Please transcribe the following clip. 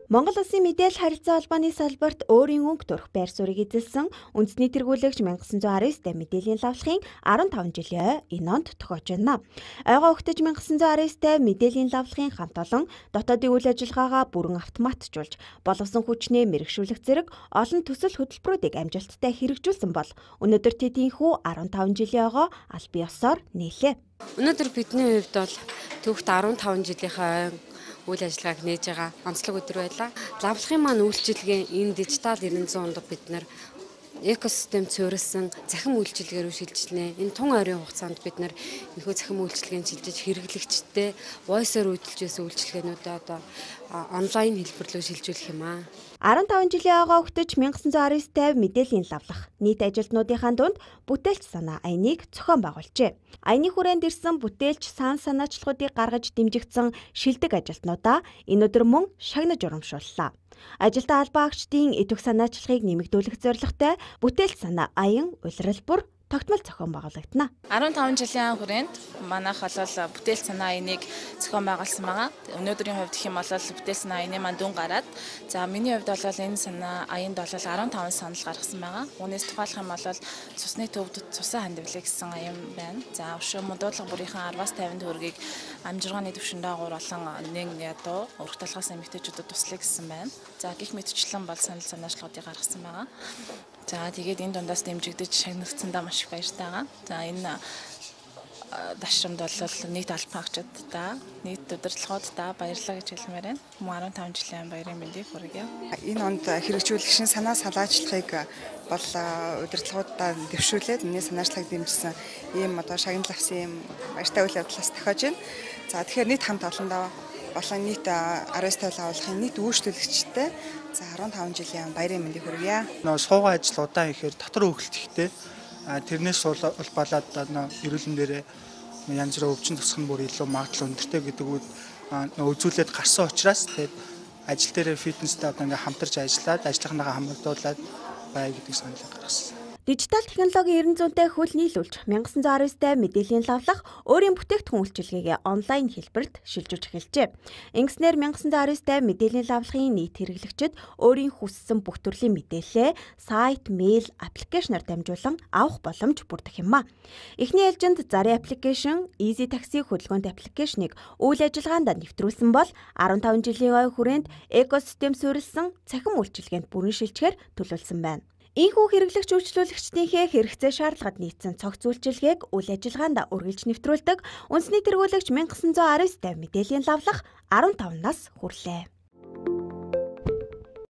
Монгол Улсын мэдээлэл харилцаа холбооны салбарт өөрийн өнгө төрх байр суурийг эзэлсэн үндэсний тэргүүлэгч 1919-д мэдээллийн лавлахын 15 жилийн энэ онд тохиож байна. Ойгоо өгтөж 1919-д мэдээллийн лавлахын хамт олон дотоодын үйл ажиллагаагаа бүрэн автоматжуулж, боловсон хүчнээ мэрэгшүүлэх зэрэг олон төсөл хөтөлбөрүүдийг амжилттай хэрэгжүүлсэн бол өнөөдөр тэдийнхүү 15 жилийн ойгоо аль бие ёсоор нийлээ. Өнөөдөр бидний хувьд бол түүхт 15 жилийнхаа үйл ажиллагааг нээж байгаа онцлог өдөр байлаа. Лавлахын маань үйлчилгээ энэ дижитал 900 онд бид нар экосистем цөөрөлсөн захим үйлчилгээ рүү шилжлээ. Энэ тун ойрын хугацаанд бид нар энэхүү захим үйлчилгээнд шилжиж хэрэглэгчтэй voice-оор үйлдэлж байсан үйлчилгээнүүдээ одоо онлайн хэлбэрлүү шилжүүлэх юм аа. 15 жилийн ойгоо өгтөж 1919-д мэдээллийн лавлах нийт ажилтнуудынхаа дунд бүтээлч санаа аяныг зохион байгуулжээ. Аяны хүрээнд ирсэн бүтээлч санаачлалуудыг гаргаж дэмжигдсэн шилдэг ажилтнуудаа энэ өдөр мөн шагнаж урамшууллаа. Ажилтаа албаагчдын идэх санаачлагыг нэмэгдүүлэх зорилготой бүтээлч санаа аян улирал бүр тогтмол зохион байгуулагдана. 15 жилийн хүрээнд манайх бол бүтээлч санаа аяныг зохион байгуулсан байгаа. Өнөөдрийн хувьд гэх юм бол бүтээлч санаа аяны маань дүн гараад миний хувьд бол энэ санаа аянд бол 15 санал гаргасан байгаа. Үүнээс тухайлах юм бол цусны төвд цусан хандивлыг гэсэн аян байна. Өшөө модуудлага бүрийнхэн 10-аас 50 төгрөгийг амжиргааны түвшин дагуур болон нэг ядуу урах талхаас эмэгтэйчүүдэд туслая гэсэн байна. Гэх мэтчлэн бол санал санаачлагуудыг гаргасан байгаа. Тэгээд энэ дундаас дэмжигдэж шагнагдсандаа маш их баяртай байгаа. Энэ дашрамд бол нийт албаагчдаа, нийт удирдлагуудаа баярлалаа гэж хэлмээр байна. Мөн 15 жилийн баярын мэндийг хүргье. Энэ онд хэрэгжүүлэх шин санаа салаачлагыг бол удирдлагуудаа дэвшүүлээд энэ санаачлагыг дэмжсэн ийм шагнал авсан ийм баяртай үйл явдлаас тохиож байна. Тэгэхээр нийт хамт олондоо болон нийт 19 тойл агуулгын нийт үйлчлүүлэгчтэй 15 жилийн баярын мэндийг хүргье. Суугаа ажил удаан ихээр дотор хөвгөлтөхтэй тэрнээс улбалаад эрүүл мэндээр янз бүрийн өвчин тусах нь бүр илүү магадлал өндөртэй гэдэг үг үзүүлээд гарсан учраас тэгээд ажил дээр фитнестэй хамтарч ажиллаад ажлынхаагаа хамгаалуулаад бай гэдэг саналыг гаргасан. Дижитал технологийн 900-тэй хөл нийлүүлж 1919-д мэдээллийн лавлах өөрийн бүтээгдэхүүн үйлчилгээгээ онлайн хэлбэрт шилжүүлж эхэлжээ. Ингэснээр 1919-д мэдээллийн лавлахын нийт хэрэглэгчид өөрийн хүссэн бүх төрлийн мэдээлэлээ сайт, мэйл, аппликейшнаар дамжуулан авах боломж бүрдэх юм а. Эхний ээлжинд Zari application, Easy Taxi хөдөлгөөнт аппликейшнийг үйл ажиллагаанд нэвтрүүлсэн бол 15 жилийн ой хүрээнд экосистем суурилсан цахим үйлчилгээнд бүрэн шилжихээр төлөвлөсөн байна. Ийхүү хэрэглэгч үйлчлүүлэгчдийнхээ хэрэгцээ шаардлагад нийцсэн цогц үйлчилгээг үйл ажиллагаанд үргэлж нэвтрүүлдэг үндэсний тэргүүлэгч 1919-д мэдээллийн лавлах 15 нас хүрлээ.